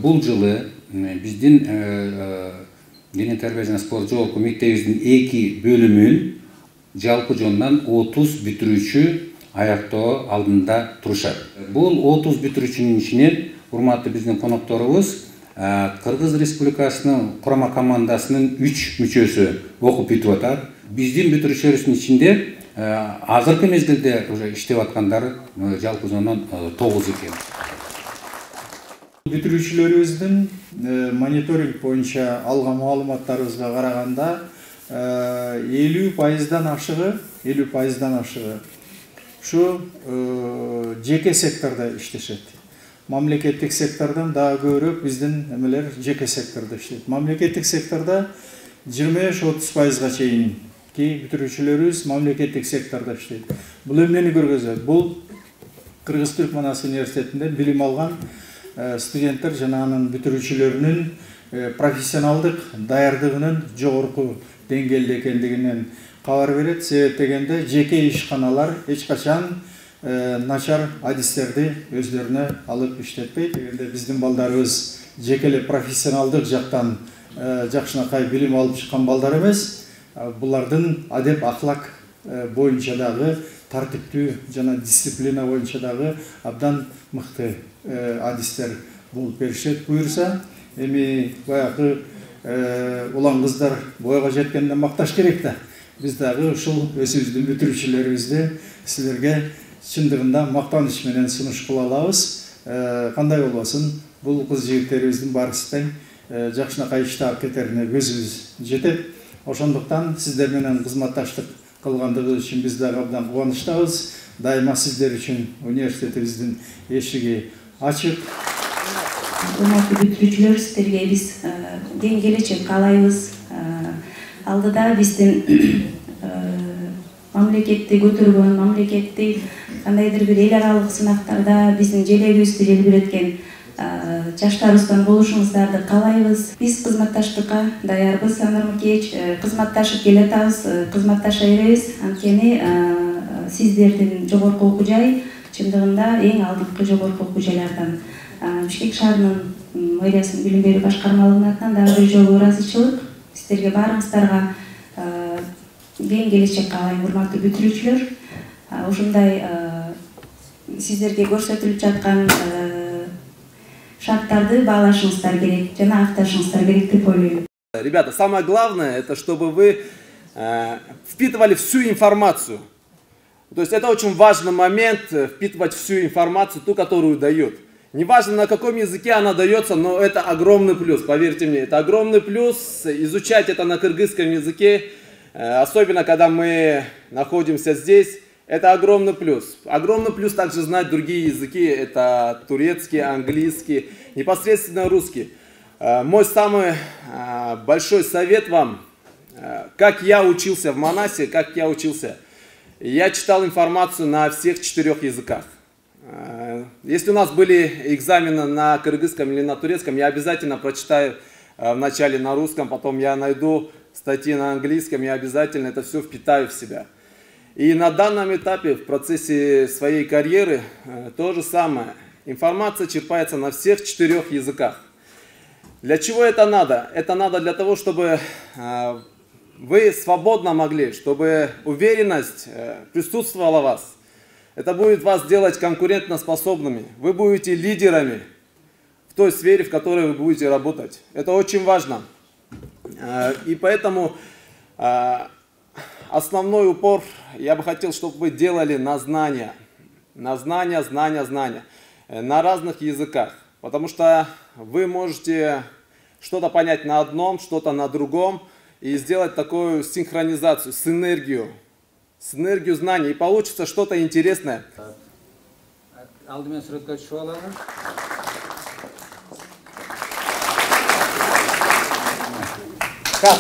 Бул жылы биздин дене тарбия жана спорт жогорку мектебибиздин 2 бөлүмүн жалпы жонунан 30 бүтүрүүчү аяктоо алдында турушат. Бул 30 бүтүрүүчүнүн ичинен урматтуу биздин конокторубуз Кыргыз Республикасынын курама командасынын 3 мүчөсү окуп бүтүп атат. Биздин бүтүрүүчүлөрүбүздүн ичинде азыркы мезгилде уже иштеп аткандар жалпы жонунан 9 экен. Бүтүрүүчүлөрүбүздүн мониторинг боюнча алган маалыматтарыбызга караганда 50%дан ашыгы ушу жеке сектордо иштешет. Мамлекеттик сектордон дагы көбүрөөк биздин эмелер жеке сектордо иштейт. Мамлекеттик сектордо 25-30%га чейин бүтүрүүчүлөрүбүз мамлекеттик сектордо иштейт. Бул эмнени көргөзөт? Бул Кыргыз Түрк Манас университетинде билим алган студенттер жана анын бүтүрүүчүлөрүнүн профессионалдык даярдыгынын жогорку деңгээлде экендигинен кабар берет. Себеп дегенде жеке ишканалар эч качан начар адистерди өздөрүнө алып иштетпейт. Дегенде биздин балдарыбыз жеке эле профессионалдык жактан жакшынакай билим алып чыккан балдар эмес. Булардын адеп ахлак боюнча дагы тартиптүү жана дисциплина боюнча дагы абдан мыкты адистер болуп беришет. Буюрса, эми баягы улан кыздар бойго жеткенде макташ керек да. Биз дагы ушул өзүбүздүн бүтүрүүчүлөрүбүздү силерге чындыгында мактаныч менен сунуш кыла алабыз. Кандай болбосун, бул кыз жигиттерибиздин барысы тең жакшынакай иштеп кетерине көзүбүз жетет. Ошондуктан сиздер менен кызматташтык кылгандыгыбыз үчүн биз дагы абдан кубанычтабыз. Дайыма сиздер үчүн университетибиздин эшиги ачык. Урматтуу бүтүрүүчүлөр, сиздерге биз кең келечек каалайбыз. Алдыда биздин мамлекетти көтөргөн, мамлекетти кандайдыр бир эл аралык сынактарда биздин желегибизди желбиреткен жаштарыбыздан болушуңуздарды каалайбыз. Биз кызматташтыкка даярбыз. Анармыкеч кызматташып келатабыз, кызматташа беребиз. Анткени сиздердин жогорку окуу жай чындыгында эң алдыңкы жогорку окуу жайлардан. Бишкек шаарынын мэриясынын билим берүү башкармалыгынын атынан дагы бир жолу ыраазычылык. Сиздерге баарыңыздарга кең келечек каалайм, урматтуу бүтүрүүчүлөр. Ушундай сиздерге көрсөтүлүп жаткан шарттарды баалашыңыздар керек жана акташыңыздар керек деп ойлойм. Ребята, самое главное, это чтобы вы впитывали всю информацию. То есть это очень важный момент, впитывать всю информацию, ту, которую дают. Неважно, на каком языке она дается, но это огромный плюс, поверьте мне, это огромный плюс. Изучать это на кыргызском языке, особенно когда мы находимся здесь, это огромный плюс. Огромный плюс также знать другие языки, это турецкий, английский, непосредственно русский. Мой самый большой совет вам, как я учился в Манасе, я читал информацию на всех 4 языках. Если у нас были экзамены на кыргызском или на турецком, я обязательно прочитаю вначале на русском, потом я найду статьи на английском, я обязательно это все впитаю в себя. И на данном этапе, в процессе своей карьеры, то же самое. Информация черпается на всех 4 языках. Для чего это надо? Это надо для того, чтобы вы свободно могли, чтобы уверенность присутствовала в вас. Это будет вас делать конкурентоспособными. Вы будете лидерами в той сфере, в которой вы будете работать. Это очень важно. И поэтому основной упор я бы хотел, чтобы вы делали на знания. На знания. На разных языках. Потому что вы можете что-то понять на одном, что-то на другом. И сделать такую синхронизацию, синергию знаний. И получится что-то интересное. Как,